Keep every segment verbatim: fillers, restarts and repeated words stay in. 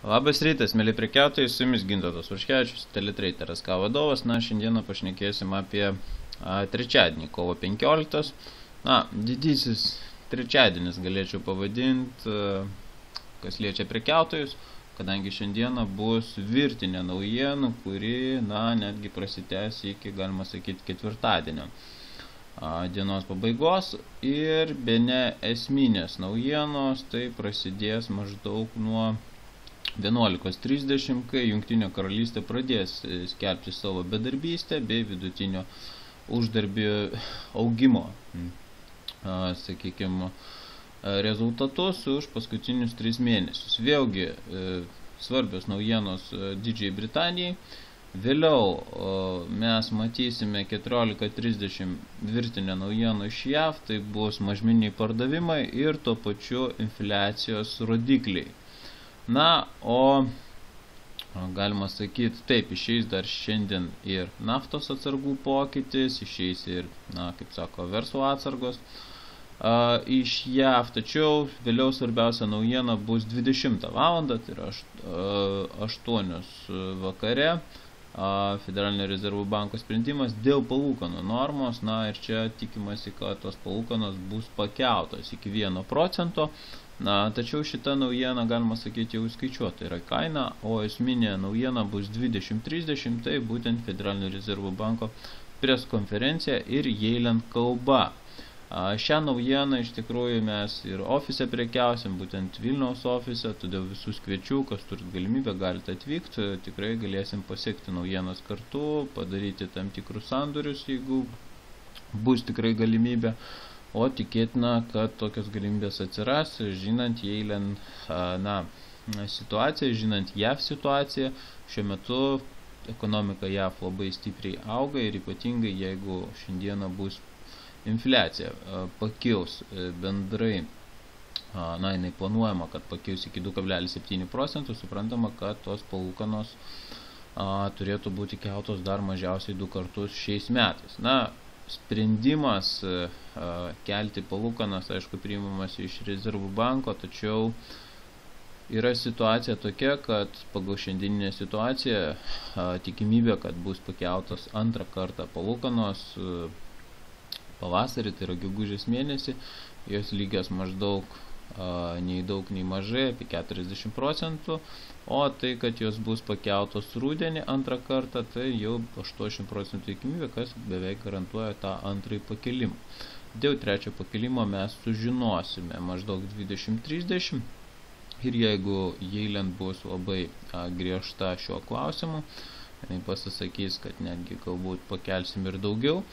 Labas rytas, mėly prekiautojai, su jumis Gintautas Vaškevičius, Teletrader S K vadovas. Na, šiandieną pašnekėsim apie a, trečiadienį, kovo penkioliktos. Na, didysis trečiadienis galėčiau pavadinti, a, kas liečia prekiautojus, kadangi šiandieną bus virtinė naujienų, kuri, na, netgi prasitęs iki, galima sakyti, ketvirtadienio a, dienos pabaigos. Ir bene esminės naujienos, tai prasidės maždaug nuo vienuolikos trisdešimt, kai Jungtinė karalystė pradės skelbti savo bedarbystę bei vidutinio uždarbio augimo, sakykime, rezultatus už paskutinius tris mėnesius. Vėlgi svarbios naujienos Didžiajai Britanijai. Vėliau mes matysime keturiolika trisdešimt virtinę naujienų iš J A V, tai bus mažmeniniai pardavimai ir tuo pačiu infliacijos rodikliai. Na, o galima sakyti, taip, išeis dar šiandien ir naftos atsargų pokytis, išeis ir, na, kaip sako, verslo atsargos a, iš J A V, tačiau vėliau svarbiausia naujiena bus dvidešimtą valandą, tai yra aštuonios vakare, a, Federalinio rezervų banko sprendimas dėl palūkanų normos. Na, ir čia tikimasi, kad tos palūkanos bus pakeltos iki vieno procento. Na, tačiau šita naujiena, galima sakyti, jau skaičiuota yra kaina, o esminė naujiena bus dvidešimt trisdešimt, tai būtent Federalinio rezervų banko preskonferencija ir Yellen kalba. A, šią naujieną iš tikrųjų mes ir ofise prekiausim, būtent Vilniaus ofise, todėl visus kviečiu, kas turit galimybę, galite atvykti, tikrai galėsim pasiekti naujienas kartu, padaryti tam tikrus sandorius, jeigu bus tikrai galimybė. O tikėtina, kad tokios galimybės atsiras, žinant Yellen na, situaciją, žinant J A V situaciją. Šiuo metu ekonomika J A V labai stipriai auga ir ypatingai jeigu šiandieną bus infliacija pakils bendrai, na, jinai planuojama, kad pakils iki du kablelis septyni procentų, suprantama, kad tos palūkanos a, turėtų būti keltos dar mažiausiai du kartus šiais metais. Na, sprendimas a, kelti palūkanas, aišku, priimamas iš rezervų banko, tačiau yra situacija tokia, kad pagal šiandieninę situaciją a, tikimybė, kad bus pakeltos antrą kartą palūkanos a, pavasarį, tai yra gegužės mėnesį, jos lygios maždaug a, nei daug, nei mažai, apie keturiasdešimt procentų, o tai, kad jos bus pakeltos rudenį antrą kartą, tai jau aštuoniasdešimt procentų tikimybė, kas beveik garantuoja tą antrąjį pakelimą. Dėl trečio pakelimo mes sužinosime maždaug dvidešimt trisdešimt ir jeigu Yellen bus labai a, griežta šiuo klausimu, jinai pasisakys, kad netgi galbūt pakelsim ir daugiau,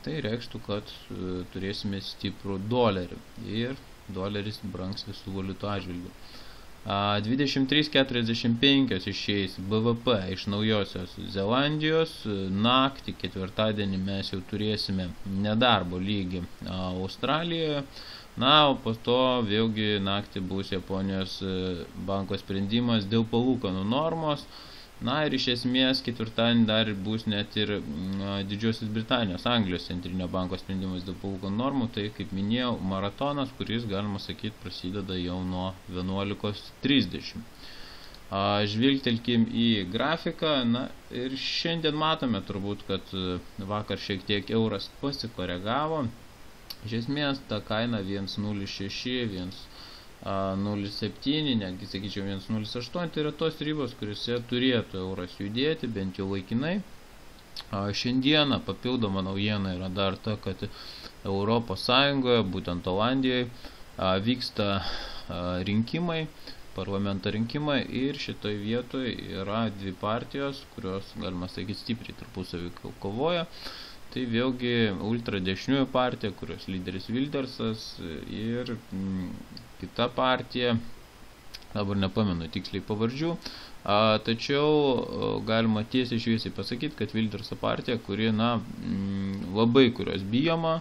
tai reikštų, kad e, turėsime stiprų dolerį ir doleris brangs visų valiutų atžvilgių. dvidešimt trys keturiasdešimt penki išeis B V P iš Naujosios Zelandijos. Naktį ketvirtadienį mes jau turėsime nedarbo lygį Australijoje. Na, o po to vėlgi naktį bus Japonijos banko sprendimas dėl palūkanų normos. Na ir iš esmės ketvirtadienį dar bus net ir na, Didžiosios Britanijos, Anglijos centrinio banko sprendimas dėl palūkanų normų. Tai, kaip minėjau, maratonas, kuris, galima sakyti, prasideda jau nuo vienuolikos trisdešimt. Žvilgtelkim į grafiką. Na ir šiandien matome turbūt, kad vakar šiek tiek euras pasikoregavo. Iš esmės ta kaina vienas nulis šeši, vienas nulis septyni, netgi sakyčiau vienas nulis aštuoni, tai yra tos ribos, kuriuose turėtų euras judėti, bent jau laikinai. Šiandieną papildoma naujiena yra dar ta, kad Europos Sąjungoje, būtent Olandijoje, vyksta rinkimai, parlamento rinkimai ir šitoj vietoje yra dvi partijos, kurios, galima sakyti, stipriai tarpusavy kovoja. Tai vėlgi ultradešiniųjų partija, kurios lyderis Wildersas ir mm, kita partija, dabar nepamenu tiksliai pavardžių, a, tačiau a, galima tiesiai šviesiai pasakyti, kad Wilderso partija, kuri, na, mm, labai kurios bijoma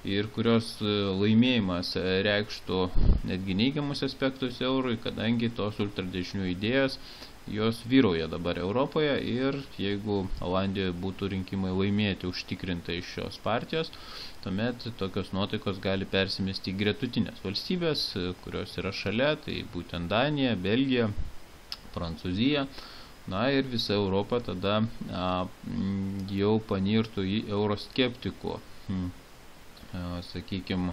ir kurios laimėjimas reikštų netgi neigiamus aspektus eurui, kadangi tos ultradešinių idėjos jos vyrauja dabar Europoje ir jeigu Olandijoje būtų rinkimai laimėti užtikrintai iš šios partijos, tuomet tokios nuotaikos gali persimesti į gretutinės valstybės, kurios yra šalia, tai būtent Danija, Belgija, Prancūzija. Na ir visa Europa tada a, jau panirtų į euroskeptikų, sakykime,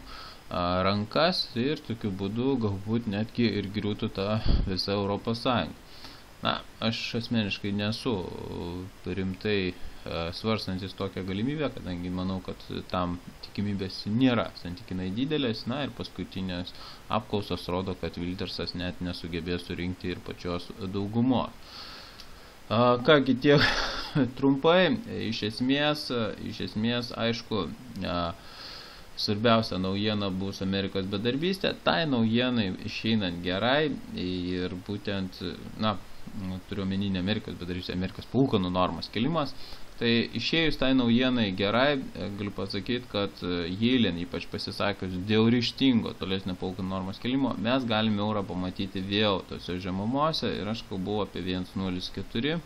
rankas ir tokiu būdu galbūt netgi ir griūtų ta visa Europos Sąjunga. Na, aš asmeniškai nesu rimtai svarstantis tokią galimybę, kadangi manau, kad tam tikimybės nėra santykinai didelės, na ir paskutinės apklausos rodo, kad Wildersas net nesugebės surinkti ir pačios daugumos. Kągi tiek trumpai, iš esmės, iš esmės, aišku, svarbiausia naujiena bus Amerikos bedarbystė, tai naujienai išeinant gerai ir būtent, na, turiu omeninį Amerikos bedarbystė, Amerikos palūkanų normos kelimas, tai išėjus tai naujienai gerai, galiu pasakyti, kad Yellen ypač pasisakius dėl ryžtingo tolesnio palūkanų normos kelimo, mes galime eurą pamatyti vėl tose žemumose ir aš kalbu apie vienas nulis keturi,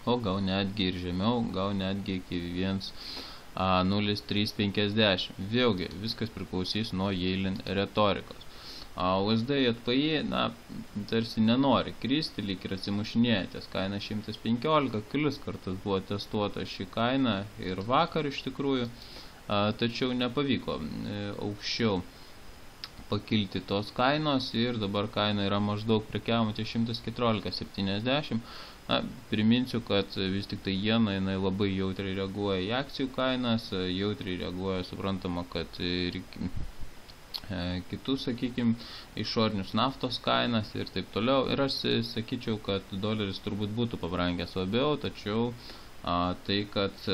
o gal netgi ir žemiau, gal netgi iki vienas nulis trys penkiasdešimt. Vėlgi, viskas priklausys nuo Yellen retorikos. U S D J P I, na, tarsi nenori kristi, lyg ir atsimušinėja ties kaina šimtas penkiolika, kelis kartus buvo testuota ši kaina ir vakar iš tikrųjų, tačiau nepavyko aukščiau pakilti tos kainos ir dabar kaina yra maždaug prekiaujama ties šimtas keturiolika septyniasdešimt. Na, priminsiu, kad vis tik tai jena jinai labai jautriai reaguoja į akcijų kainas, jautriai reaguoja, suprantama, kad ir kitus, sakykime, išorinius naftos kainas ir taip toliau. Ir aš sakyčiau, kad doleris turbūt būtų pabrangęs labiau, tačiau a, tai, kad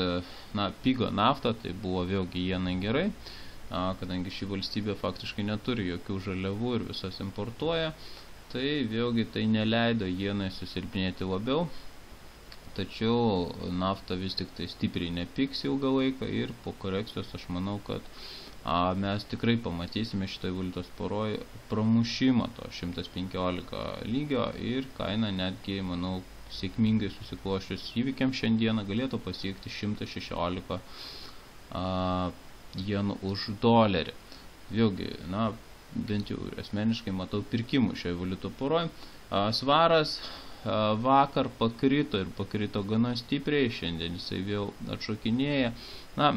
na, pigo nafta, tai buvo vėlgi jenai gerai, a, kadangi ši valstybė faktiškai neturi jokių žaliavų ir visas importuoja. Tai vėlgi tai neleido jenai susilpnėti labiau, tačiau nafta vis tik tai stipriai nepiks ilgą laiką ir po korekcijos aš manau, kad a, mes tikrai pamatysime šitoj valiutos poroj pramušimą to šimtas penkiolika lygio ir kaina netgi, manau, sėkmingai susikloščius įvykiams šiandieną galėtų pasiekti šimtas šešiolika a, jenų už dolerį. Vėlgi, na, bent jau asmeniškai matau pirkimų šioje valiutų poroj. Svaras vakar pakrito ir pakrito gana stipriai, šiandien jisai vėl atšokinėja. Na,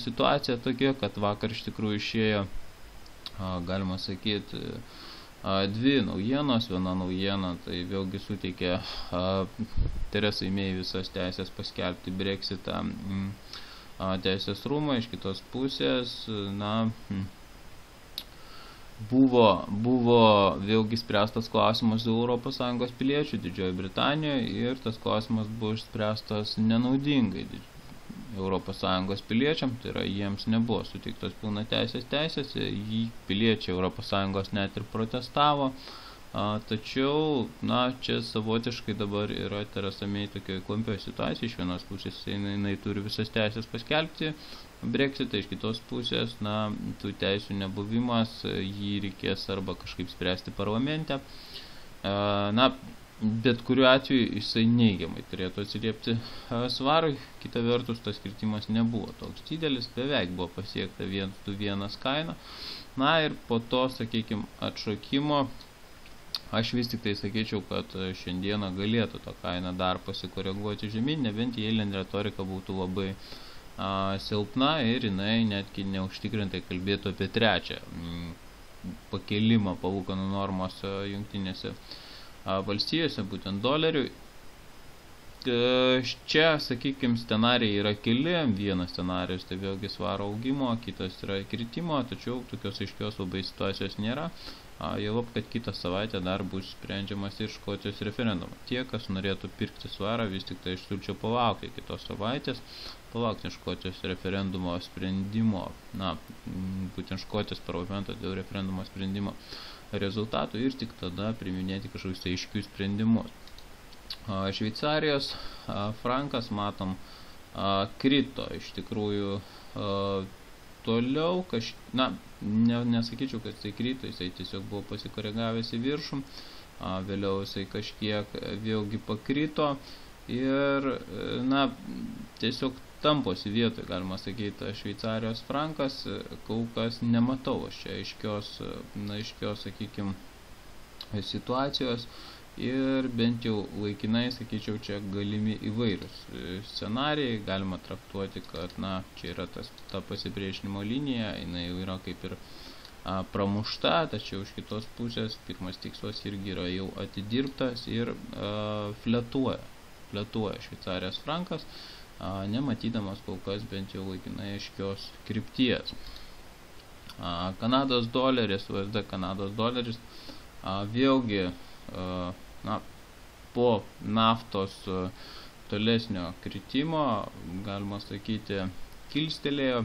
situacija tokia, kad vakar iš tikrųjų išėjo, galima sakyti, dvi naujienos. Viena naujiena, tai vėlgi suteikė Teresai May visas teisės paskelbti Brexitą teisės rūmą, iš kitos pusės, na, Buvo, buvo vėlgi spręstas klausimas dėl Europos Sąjungos piliečių Didžiojoje Britanijoje ir tas klausimas buvo išspręstas nenaudingai Europos Sąjungos piliečiam, tai yra jiems nebuvo suteiktos pilna teisės teisės, jį piliečiai Europos Sąjungos net ir protestavo, a, tačiau, na, čia savotiškai dabar yra Teresa May tokioje klampioje situacijoje, iš vienos pusės jinai, jinai turi visas teisės paskelbti Brexitą, iš kitos pusės, na, tų teisių nebuvimas, jį reikės arba kažkaip spręsti parlamente. Na, bet kuriuo atveju jisai neigiamai turėtų atsiliepti svarui, kita vertus tas kritimas nebuvo toks didelis, beveik buvo pasiekta vienas du vienas kaina. Na ir po to, sakykime, atšokimo, aš vis tik tai sakyčiau, kad šiandieną galėtų tą kainą dar pasikoreguoti žemyn, nebent Yellen retorika būtų labai silpna ir jinai netgi neužtikrintai kalbėtų apie trečią pakelimą palūkanų normos jungtinėse valstijose, būtent dolerių. Čia, sakykime, scenarijai yra keli, vienas scenarijus tai vėlgi svaro augimo, kitas yra kritimo, tačiau tokios aiškios labai situacijos nėra. Jau, kad kitą savaitę dar bus sprendžiamas ir Škotijos referendumas. Tie, kas norėtų pirkti svarą, vis tik tai aš siūlyčiau palaukti kitos savaitės, palaukti Škotijos referendumo sprendimo, na, būtent Škotijos parlamento dėl referendumo sprendimo rezultatų ir tik tada priiminėti kažkokius aiškius sprendimus. Šveicarijos frankas, matom, krito iš tikrųjų toliau, kaž... na, ne, nesakyčiau, kad jisai krito, jisai tiesiog buvo pasikoregavęs į viršų, vėliau jisai kažkiek vėlgi pakrito ir, na, tiesiog tamposi vietoje, galima sakyti, Šveicarijos frankas, kol kas nematau aš čia aiškios, na, aiškios, sakykime, situacijos ir bent jau laikinai, sakyčiau, čia galimi įvairūs scenarijai, galima traktuoti, kad, na, čia yra tas, ta pasipriešinimo linija, jinai jau yra kaip ir a, pramušta, tačiau iš kitos pusės pirmas tikslas irgi yra jau atidirbtas ir a, fletuoja, fletuoja šveicarijos frankas, a, nematydamas kol kas bent jau laikinai aiškios krypties. A, Kanados doleris, U S D Kanados doleris, a, vėlgi na, po naftos tolesnio kritimo, galima sakyti, kilstelėjo,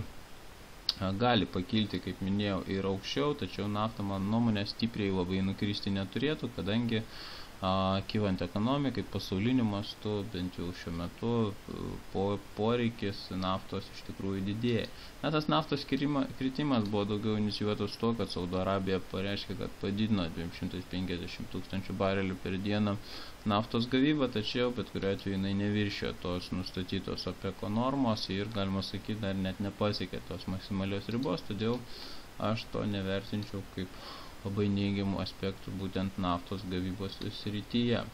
gali pakilti, kaip minėjau, ir aukščiau, tačiau nafta, mano nuomonė, stipriai labai nukristi neturėtų, kadangi a, kylant ekonomikai, pasauliniu mastu, bent jau šiuo metu, po, poreikis naftos iš tikrųjų didėja. Na, tas naftos kritimas buvo daugiau inicijuotas to, kad Saudo Arabija pareiškė, kad padidino dvi šimtai penkiasdešimt tūkstančių barelių per dieną naftos gavybą, tačiau bet kuriuo atveju jinai neviršijo tos nustatytos OPEC normos ir, galima sakyti, dar net nepasiekė tos maksimalios ribos, todėl aš to nevertinčiau kaip labai neigiamų aspektų būtent naftos gavybos srityje.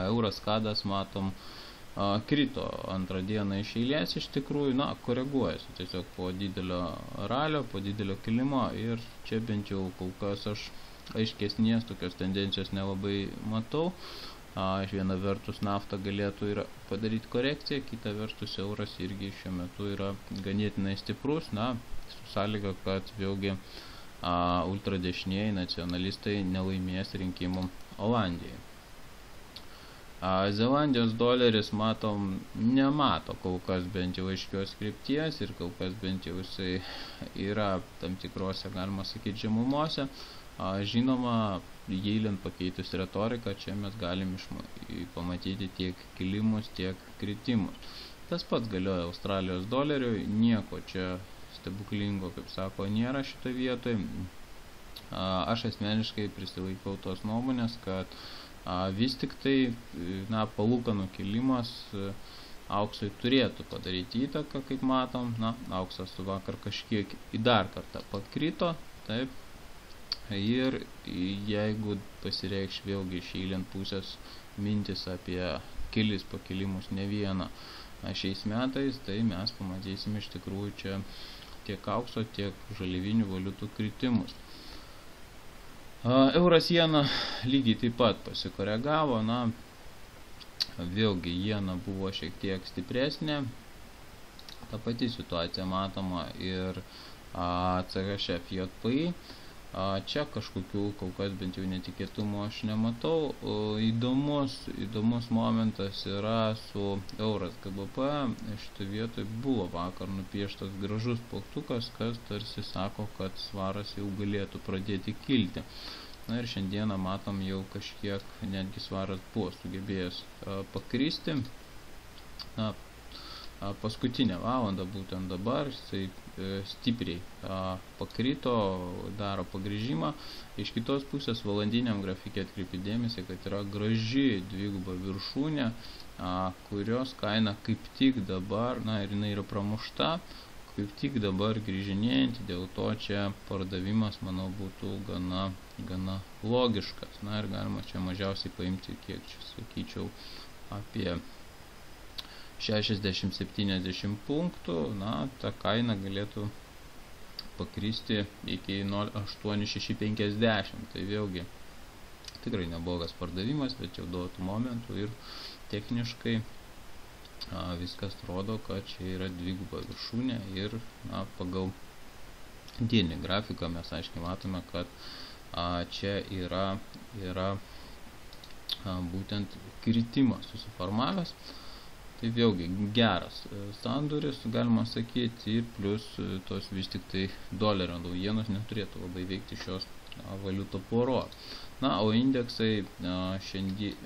Euras kadas, matom, a, krito antrą dieną iš eilės, iš tikrųjų, na, koreguojasi tiesiog po didelio ralio, po didelio kilimo ir čia bent jau kol kas aš aiškesnės tokios tendencijos nelabai matau. A, iš viena vertus nafta galėtų ir padaryti korekciją, kita vertus euras irgi šiuo metu yra ganėtinai stiprus, na, su sąlyga, kad vėlgi a, ultradešinieji nacionalistai nelaimės rinkimų Olandijai. A, Zelandijos doleris, matom, nemato kol kas bent jau aiškios krypties ir kol kas bent jau jisai yra tam tikrose, galima sakyti, žemumose. A, žinoma, Jeilen pakeitus retoriką, čia mes galim pamatyti tiek kilimus, tiek kritimus. Tas pats galioja Australijos doleriui, nieko čia stebuklingo, kaip sako, nėra šitoje vietoje. A, aš asmeniškai prisilaikau tos nuomonės, kad a, vis tik tai, na, palūkanų kilimas auksui turėtų padaryti įtaką, kaip matom. Na, auksas vakar kažkiek į dar kartą pakrito, taip. Ir jeigu pasireikš vėlgi iš Jeilen pusės mintis apie kelis pakilimus ne vieną šiais metais, tai mes pamatysime iš tikrųjų čia tiek aukso, tiek žaliavinių valiutų kritimus. Euras jena lygiai taip pat pasikoregavo, na, vėlgi jena buvo šiek tiek stipresnė, ta pati situacija matoma ir C H F J P I. Čia kažkokių, kol kas bent jau netikėtumų aš nematau. Įdomus, įdomus momentas yra su euras G B P. Šitoje vietoje buvo vakar nupieštas gražus plaktukas, kas tarsi sako, kad svaras jau galėtų pradėti kilti. Na ir šiandieną matom jau kažkiek netgi svaras buvo sugebėjęs pakristi. Na, paskutinę valandą būtent dabar jisai stipriai a, pakrito, daro pagrįžimą. Iš kitos pusės valandiniam grafikė atkreipi dėmesį, kad yra graži dviguba viršūnė, a, kurios kaina kaip tik dabar, na ir jinai yra pramušta, kaip tik dabar grįžinėjant, dėl to čia pardavimas, manau, būtų gana, gana logiškas. Na ir galima čia mažiausiai paimti, kiek čia sakyčiau, apie šešiasdešimt septyniasdešimt punktų, na, ta kaina galėtų pakristi iki nol aštuoni šeši penkiasdešimt. Tai vėlgi tikrai neblogas pardavimas, bet jau duotų momentų ir techniškai a, viskas rodo, kad čia yra dviguba viršūnė ir, na, pagal dieninį grafiką mes aiškiai matome, kad a, čia yra, yra a, būtent kritimas susiformavęs. Tai vėlgi geras sandoris, galima sakyti, ir plus tos vis tik tai dolerio naujienos neturėtų labai veikti šios valiutų poros. Na, o indeksai šiandien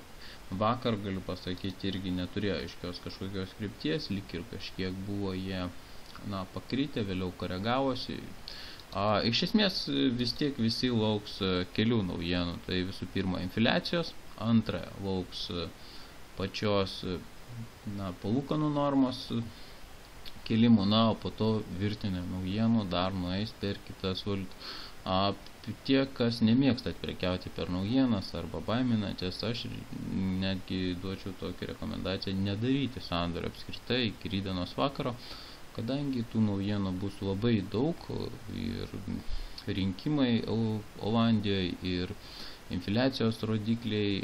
vakar, galiu pasakyti, irgi neturėjo aiškios kažkokios krypties, lyg ir kažkiek buvo jie, na, pakritę, vėliau koregavosi. A, iš esmės vis tiek visi lauks kelių naujienų. Tai visų pirma infliacijos, antra lauks pačios, na, palūkanų normos kelimų, na, o po to virtinė naujienų dar nueis per kitas valiutas. tie, kas nemėgstat prekiauti per naujienas arba baiminatės, aš netgi duočiau tokią rekomendaciją nedaryti sandorio apskritai iki rytdienos vakaro, kadangi tų naujienų bus labai daug ir rinkimai Olandijoje ir infliacijos rodikliai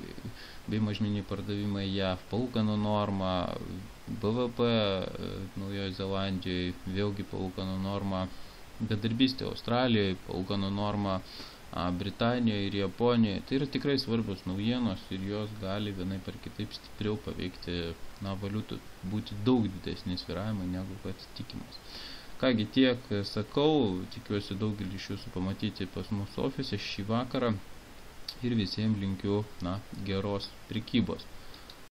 bei mažmeniniai pardavimai J A V, palūkanų norma, B V P Naujoje Zelandijoje, vėlgi palūkanų norma, bedarbystė Australijoje, palūkanų norma Britanijoje ir Japonijoje. Tai yra tikrai svarbios naujienos ir jos gali vienai per kitaip stipriau paveikti na, valiutų, būti daug didesni svyravimai negu kad tikimas. Kągi tiek sakau, tikiuosi daugelį iš jūsų pamatyti pas mūsų ofise šį vakarą ir visiems linkiu na, geros prekybos.